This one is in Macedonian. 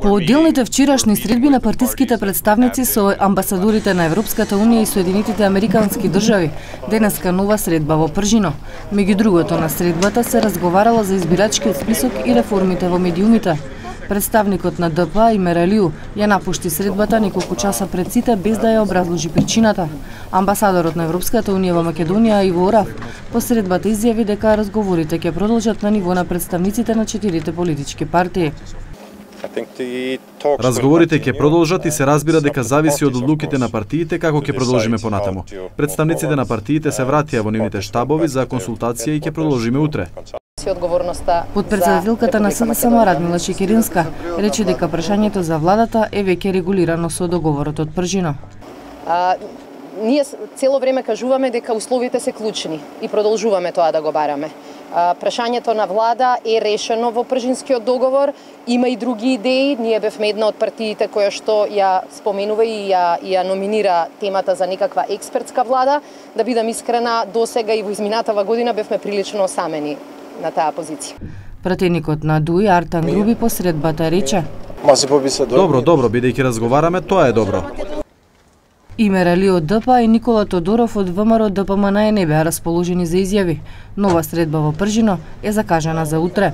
По одделните вчерашни средби на партиските представници со амбасадорите на Европската Унија и Соединетите Американски држави, денеска нова средба во Пржино. Меѓу другото на средбата се разговарало за избирачкиот список и реформите во медиумите. Представникот на ДП Имер Алиу ја напушти средбата неколку часа пред сите без да ја образложи причината. Амбасадорот на Европската Унија во Македонија Иво Орав по средбата изјави дека разговорите ќе продолжат на ниво на представниците на 4 политички партии. Разговорите ќе продолжат и се разбира дека зависи од одлуките на партиите како ќе продолжиме понатаму. Представниците на партиите се вратија во нивните штабови за консултација и ќе продолжиме утре. Подпредседателката на СДСМ Радмила Шекеринска рече дека прашањето за владата е веќе регулирано со договорот од Пржино. Ние цело време кажуваме дека условите се клучни и продолжуваме тоа да го бараме. Прашањето на влада е решено во Пржинскиот договор, има и други идеи, ние бевме една од партиите која што ја споменува и ја номинира темата за некаква експертска влада. Да бидам искрена, досега и во изминатава година бевме прилично осамени на таа позиција. Пратеникот на ДУИ Артан Груби по средбата рече: Добро, бидејќи разговараме, тоа е добро. Имер Алиу од ДП и Никола Тодоров од ВМРО ДПМН не беа расположени за изјави. Нова средба во Пржино е закажана за утре.